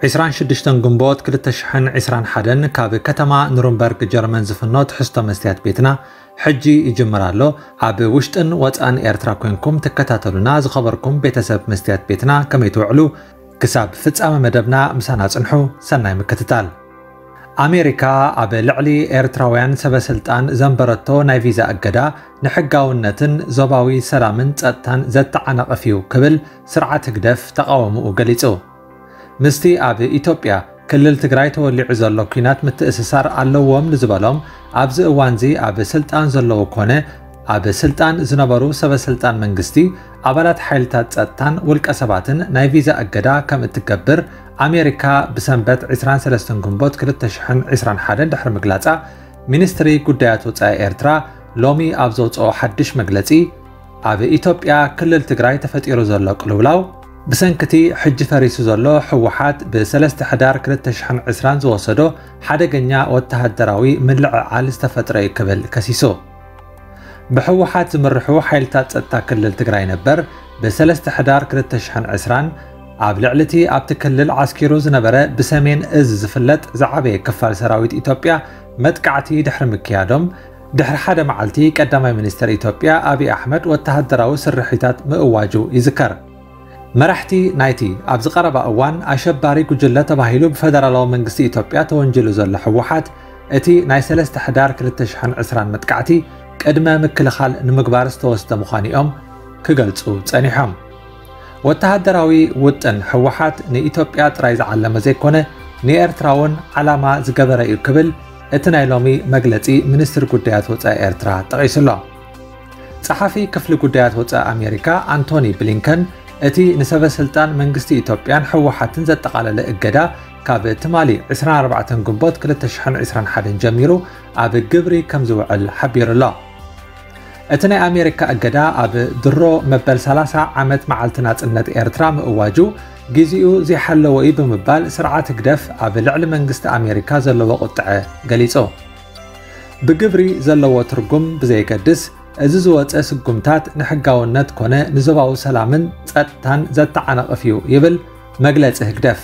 ዕስራን ሽዱሽተን ግንቦት ክልተ ሽሕን ዕስራን ሓደን ካብ ከተማ ኑርንበርግ ጀርመን ዝፍኖ ትሕዝቶ መስትያት ቤትና ሕጂ ይጅምር ኣሎ። ኣብ ውሽጥን ወጻእን ኤርትራ ኮንኩም ትከታተሉና ዝኸበርኩም ቤተሰብ መስትያት ቤትና ከመይ ትውዕሉ? ክሳብ ፍጻመ መደብና ምሳና ጽንሑ። ሰናይ ምክትታል። ኣሜሪካ ኣብ ልዕሊ ኤርትራውያን ሰበ ስልጣን ዘንበረቶ ናይ ቪዛ እገዳ ንሕጋውነትን ዞባዊ ሰላምን ጸጥታን ዘተዓናቕፍ እዩ ክብል ስርዓት ህግደፍ ተቓውሞኡ ገሊጹ። ምስቲ ኣብ ኢትዮጵያ ክልል ትግራይ ተወሊዑ ዘሎ ኲናት ምትእስሳር ኣለዎም ንዝበሎም ኣብዚ እዋንዚ ኣብ ስልጣን ዘለዉ ኮነ ኣብ ስልጣን ዝነበሩ ሰበ ስልጣን መንግስቲ፣ ኣባላት ሓይልታት ጸጥታን ውልቀ ሰባትን ናይ ቪዛ እገዳ ከም እትገብር ኣሜሪካ ብሰንበት ዕስራን ሰለስተን ግንቦት ክልተ ሽሕን ዕስራን ሓደን ድሕሪ ምግላጻ፣ ሚኒስትሪ ጉዳያት ወጻኢ ኤርትራ ሎሚ ኣብ ዘውጽኦ ሓድሽ መግለጺ፣ ኣብ ኢትዮጵያ ክልል ትግራይ ተፈጢሩ ዘሎ ቅልውላው፣ ብሰንክቲ ሕጂ ፈሪሱ ዘሎ ህወሓት ብሰለስተ ሕዳር ክልተ ሽሕን ዕስራን ዝወሰዶ ሓደገኛ ወተሃደራዊ ምልዕዓል ዝተፈጥረ እዩ ክብል ከሲሱ። ብህወሓት ዝምርሑ ሓይልታት ጸጥታ ክልል ትግራይ ነበር ብሰለስተ ሕዳር ክልተ ሽሕን ዕስራን ኣብ ልዕሊ እቲ ኣብቲ ክልል ዓስኪሩ ዝነበረ ብሰሜን እዝ ዝፍለጥ ዝዓበየ ክፋል ሰራዊት ኢትዮጵያ መጥቃዕቲ ድሕሪ ምክያዶም፣ ድሕሪ ሓደ መዓልቲ ቀዳማይ ሚኒስተር ኢትዮጵያ ኣብይ ኣሕመድ ወተሃደራዊ ስርሒታት ምእዋጁ ይዝከር። መራሕቲ ናይቲ ኣብዚ ቀረባ እዋን ኣሸባሪ ጉጅለ ተባሂሉ ብፈደራላዊ መንግስቲ ኢትዮጵያ ተወንጅሉ ዘሎ ህወሓት፣ እቲ ናይ ሰለስተ ሕዳር ክልተ ሽሕን ዕስራን መጥቃዕቲ ቅድመ ምክልኻል ንምግባር ዝተወስደ ምዃኑ እዮም ክገልጹ ጸኒሖም። ወተሃደራዊ ውጥን ህወሓት ንኢትዮጵያ ጥራይ ዝዓለመ ዘይኮነ፣ ንኤርትራ እውን ዓላማ ዝገበረ እዩ ክብል እቲ ናይ ሎሚ መግለጺ ሚኒስትሪ ጉዳያት ወጻኢ ኤርትራ ጠቒሱ ኣሎ። ጸሓፊ ክፍሊ ጉዳያት ወጻኢ ኣሜሪካ ኣንቶኒ ብሊንከን፣ እቲ ንሰበ ስልጣን መንግስቲ ኢትዮጵያን ህወሓትን ዘጠቓለለ እገዳ፣ ካብ ትማሊ ዕስራን ኣርባዕተን ግንቦት ክልተ ሽሕን ዕስራን ሓደን ጀሚሩ ኣብ ግብሪ ከም ዝውዕል ሓቢሩ ኣሎ። እቲ ናይ ኣሜሪካ እገዳ ኣብ ድሮ መበል ሰላሳ ዓመት መዓልቲ ናጽነት ኤርትራ ምእዋጁ፣ ግዜኡ ዘይሓለወ እዩ ብምባል ስርዓት ህግደፍ ኣብ ልዕሊ መንግስቲ ኣሜሪካ ዘለዎ ቁጥዐ ገሊጹ። ብግብሪ ዘለዎ ትርጉም ብዘየገድስ፣ እዚ ዝወጸ ስጉምታት ንሕጋውነት ኮነ ንዞባዊ ሰላምን ጸጥታን ዘተዓናቕፍ እዩ ይብል መግለጺ ህግደፍ።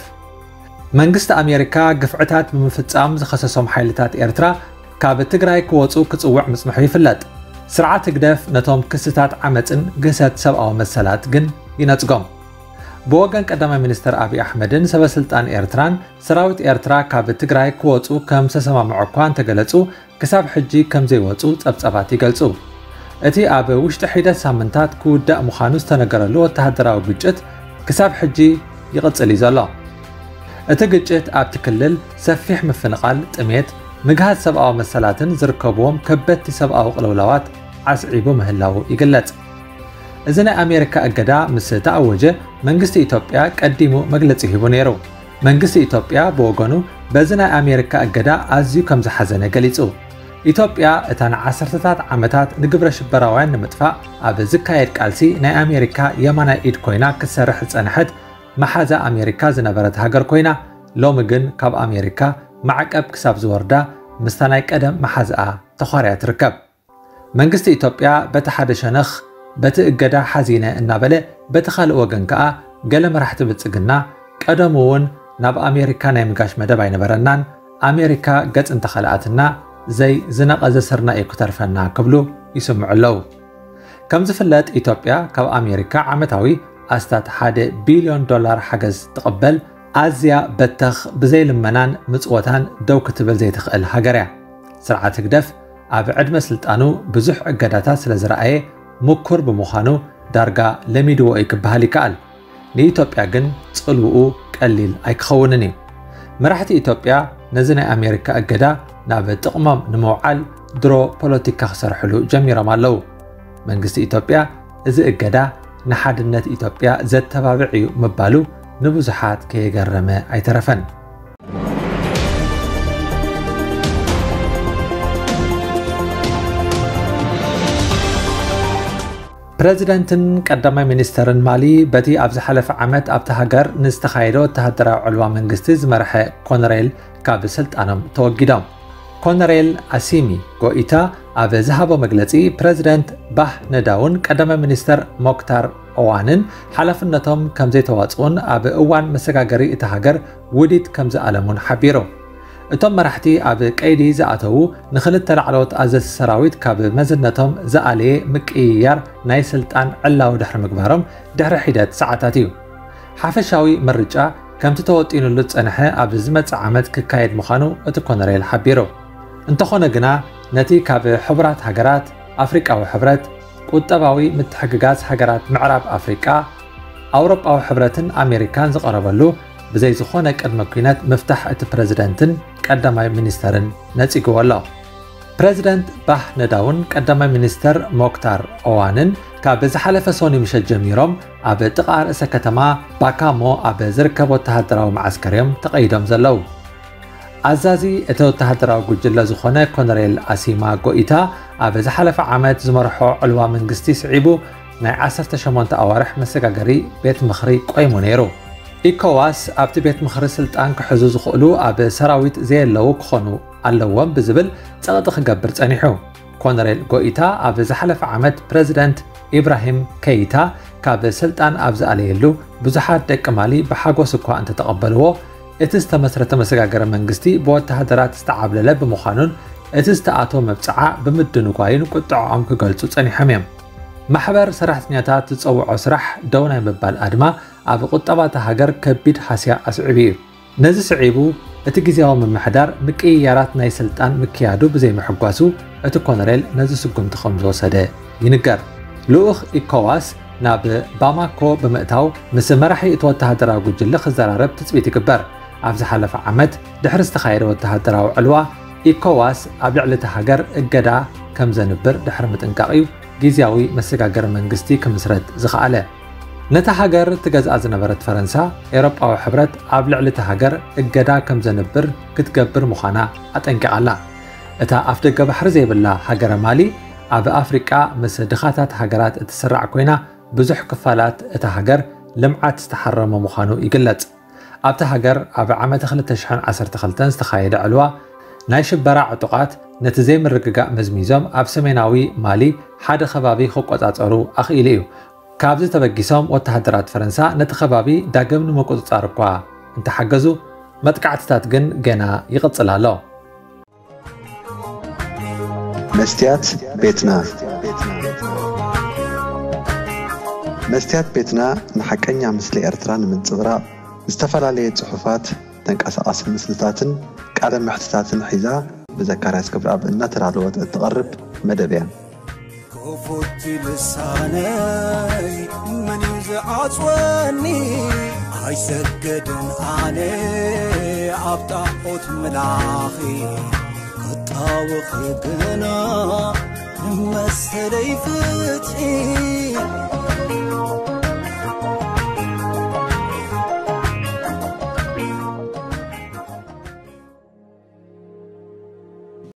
መንግስቲ ኣሜሪካ ግፍዕታት ብምፍጻም ዝኸሰሶም ሓይልታት ኤርትራ ካብ ትግራይ ክወጹ ክጽውዕ ምጽንሑ ይፍለጥ። ስርዓት ህግደፍ ነቶም ክስታት ዓመጽን ግህሰት ሰብኣዊ መሰላት ግን ይነጽጎም። ብወገን ቀዳማይ ሚኒስትር ኣብይ ኣሕመድን ሰበ ስልጣን ኤርትራን፣ ሰራዊት ኤርትራ ካብ ትግራይ ክወጹ ከም ዝተሰማምዑ እኳ እንተገለጹ፣ ክሳብ ሕጂ ከም ዘይወጹ ጸብጻባት ይገልጹ። እቲ ኣብ ውሽጢ ሒደት ሳምንታት ክውዳእ ምዃኑ ዝተነገረሉ ወተሃደራዊ ግጭት ክሳብ ሕጂ ይቕጽል እዩ ዘሎ። እቲ ግጭት ኣብቲ ክልል ሰፊሕ ምፍንቓል፣ ጥሜት፣ ምግሃስ ሰብኣዊ መሰላትን ዝርከብዎም ከበድቲ ሰብኣዊ ቅልውላዋት ዓስዒቡ ምህላዉ ይግለጽ። እዚ ናይ ኣሜሪካ እገዳ ምስ ተኣወጀ፣ መንግስቲ ኢትዮጵያ ቀዲሙ መግለጺ ሂቡ ነይሩ። መንግስቲ ኢትዮጵያ ብወገኑ፣ በዚ ናይ ኣሜሪካ እገዳ ኣዝዩ ከም ዝሓዘነ ገሊጹ። ኢትዮጵያ፣ እታ ንዓሰርተታት ዓመታት ንግብረ ሽበራውያን ንምጥፋእ ኣብ ዝካየድ ቃልሲ ናይ ኣሜሪካ የማናይ ኢድ ኮይና ክትሰርሕ ዝጸንሐት፣ መሓዛ ኣሜሪካ ዝነበረት ሃገር ኮይና፣ ሎሚ ግን ካብ ኣሜሪካ ማዕቀብ ክሳብ ዝወርዳ ምስታ ናይ ቀደም መሓዝኣ ተዃርያ ትርከብ። መንግስቲ ኢትዮጵያ በቲ ሓደ ሸነኽ በቲ እገዳ ሓዚነ እናበለ፣ በቲ ካልእ ወገን ከኣ ገለ መራሕቲ ብልጽግና፣ ቀደሙ እውን ናብ ኣሜሪካ ናይ ምጋሽ መደብ ኣይነበረናን፣ ኣሜሪካ ገጽ እንተኸልኣትና ዘይ ዝነቐዘ ስርና እዩ ክተርፈና ክብሉ ይስምዑ ኣለዉ። ከም ዝፍለጥ፣ ኢትዮጵያ ካብ ኣሜሪካ ዓመታዊ ኣስታት ሓደ ቢልዮን ዶላር ሓገዝ ትቕበል። ኣዝያ በተኽ፣ ብዘይ ልመናን ምጽወታን ደው ክትብል ዘይትኽእል ሃገር እያ። ስርዓት ህግደፍ ኣብ ዕድመ ስልጣኑ ብዙሕ እገዳታት ስለ ዝረኣየ፣ ምኩር ብምዃኑ ዳርጋ ለሚድዎ እዩ ክበሃል ይከኣል። ንኢትዮጵያ ግን ጽልውኡ ቀሊል ኣይክኸውንን እዩ። መራሕቲ ኢትዮጵያ ነዚ ናይ ኣሜሪካ እገዳ ናብ ጥቕሞም ንምውዓል ድሮ ፖለቲካ ክሰርሕሉ ጀሚሮም ኣለዉ። መንግስቲ ኢትዮጵያ፣ እዚ እገዳ ንሓድነት ኢትዮጵያ ዘተባብዕ እዩ ምባሉ ንብዙሓት ከየገረመ ኣይተረፈን። ፕረዚደንትን ቀዳማይ ሚኒስተርን ማሊ በቲ ኣብ ዝሓለፈ ዓመት ኣብቲ ሃገር ንዝተኻየደ ወተሃደራዊ ዕልዋ መንግስቲ ዝመርሐ ኮነሬል ካብ ስልጣኖም ተወጊዶም። ኮነሬል ኣሲሚ ጎኢታ ኣብ ዝሃቦ መግለጺ፣ ፕረዚደንት ባህ ነዳውን ቀዳማይ ሚኒስተር ሞክታር ኦዋንን ሓላፍነቶም ከም ዘይተዋጽኡን ኣብ እዋን መሰጋገሪ እቲ ሃገር ውዲት ከም ዝኣለሙን ሓቢሩ። እቶም መራሕቲ ኣብ ቀይዲ ዝኣተዉ ንኽልተ ላዕለዎት ኣዘዝቲ ሰራዊት ካብ መዝነቶም ዝኣለየ ምቅይያር ናይ ስልጣን ዕላዊ ድሕሪ ምግባሮም ድሕሪ ሒደት ሰዓታት እዩ። ሓፈሻዊ ምርጫ ከምቲ ተወጢኑሉ ዝጸንሐ ኣብዚ ዝመጽእ ዓመት ክካየድ ምዃኑ እቲ ኮነሬል ሓቢሩ። እንተኾነ ግና ነቲ ካብ ሕቡራት ሃገራት፣ ኣፍሪቃዊ ሕብረት፣ ቁጠባዊ ምትሕግጋዝ ሃገራት ምዕራብ ኣፍሪቃ፣ ኣውሮጳዊ ሕብረትን ኣሜሪካን ዝቐረበሉ ብዘይ ዝኾነ ቅድመ ኲነት ምፍታሕ እቲ ፕረዚደንትን ቀዳማይ ሚኒስተርን ነጺግዎ ኣሎ። ፕረዚደንት ባህ ነዳውን ቀዳማይ ሚኒስተር ሞክታር ኦዋንን ካብ ዝሓለፈ ሶኒ ምሸት ጀሚሮም ኣብ ጥቓ ርእሰ ከተማ ባካሞ ኣብ ዝርከብ ወተሃደራዊ መዓስከር እዮም ተቐይዶም ዘለዉ። ኣዛዚ እቲ ወተሃደራዊ ጉጅለ ዝኾነ ኮነሬል ኣሲማ ጎኢታ ኣብ ዝሓለፈ ዓመት ዝመርሖ ዕልዋ መንግስቲ ስዒቡ ናይ ዓሰርተ ሸሞንተ ኣዋርሕ መሰጋገሪ ቤት ምኽሪ ቆይሙ ነይሩ። ኢኮዋስ ኣብቲ ቤት ምኽሪ ስልጣን ክሕዙ ዝኽእሉ ኣብ ሰራዊት ዘየለዉ ክኾኑ ኣለዎም ብዝብል ጸቕጢ ክገብር ጸኒሑ። ኮነሬል ጎኢታ ኣብ ዝሓለፈ ዓመት ፕረዚደንት ኢብራሂም ከይታ ካብ ስልጣን ኣብ ዝኣለየሉ ብዙሓት ደቂ ማሊ ብሓጎስ እኳ እንተተቐበልዎ፣ እቲ ዝተመስረተ መሰጋገሪ መንግስቲ ብወተሃደራት ዝተዓብለለ ብምዃኑን እቲ ዝተኣትዎ መብጽዓ ብምድንጓዩን ቁጥዐኦም ክገልጹ ጸኒሖም እዮም። ማሕበር ሰራሕተኛታት ዝጸውዖ ስራሕ ደው ናይ ምባል ኣድማ ኣብ ቁጠባ እታ ሃገር ከቢድ ሃስያ ኣስዒቡ እዩ። ነዚ ስዒቡ እቲ ግዝያዊ ምምሕዳር ምቅይያራት ናይ ስልጣን ምክያዱ ብዘይምሕጓሱ እቲ ኮነሬል ነዚ ስጉምቲ ከም ዝወሰደ ይንገር። ልኡኽ ኢኮዋስ ናብ ባማኮ ብምእታው ምስ መራሒ እቲ ወተሃደራዊ ጉጅለ ክዘራረብ ትጽቢት ይግበር። ኣብ ዝሓለፈ ዓመት ድሕሪ ዝተኻየደ ወተሃደራዊ ዕልዋ ኢኮዋስ ኣብ ልዕሊ እታ ሃገር እገዳ ከም ዘንብር ድሕሪ ምጥንቃቕ እዩ ግዝያዊ መሰጋገሪ መንግስቲ ክምስረት ዝኸኣለ። ነታ ሃገር ትገዝኣ ዝነበረት ፈረንሳ፣ ኤውሮጳዊ ሕብረት ኣብ ልዕሊ እታ ሃገር እገዳ ከም ዘንብር ክትገብር ምዃና ኣጠንቂቓ ኣላ። እታ ኣፍደገ ባሕሪ ዘይብላ ሃገረ ማሊ፣ ኣብ ኣፍሪቃ ምስ ድኻታት ሃገራት እትስራዕ ኮይና፣ ብዙሕ ክፋላት እታ ሃገር ልምዓት ዝተሓረሞ ምዃኑ ይግለጽ። ኣብታ ሃገር ኣብ ዓመተ ክልተ ሽሕን ዓሰርተ ክልተን ዝተኻየደ ዕልዋ፣ ናይ ሽበራ ዕጡቓት ነቲ ዘይምርግጋእ መዝሚዞም ኣብ ሰሜናዊ ማሊ ሓደ ከባቢ ክቆጻጸሩ ኣኽኢሉ እዩ። ካብዚ ተበጊሶም ወተሃደራት ፈረንሳ ነቲ ከባቢ ዳግም ንምቁጽጻር እኳ እንተሓገዙ፣ መጥቃዕትታት ግን ገና ይቕጽል ኣሎ። መስትያት ቤትና። መስትያት ቤትና ንሓቀኛ ምስሊ ኤርትራ ንምንጽብራቕ ዝተፈላለየ ጽሑፋት፣ ተንቀሳቓሲ ምስልታትን ቃለ መሕትታትን ሒዛ ብዘካርያስ ክብረኣብ እናተዳለወት እትቐርብ መደብ እያ። ክፉት ልሳነይ መን እዩ ዝዓጽወኒ? ኣይሰገድን ኣነ ኣብ ጣዖት ምላኺ ክጣወኺ ግና ንመሰለይ ፍትሒ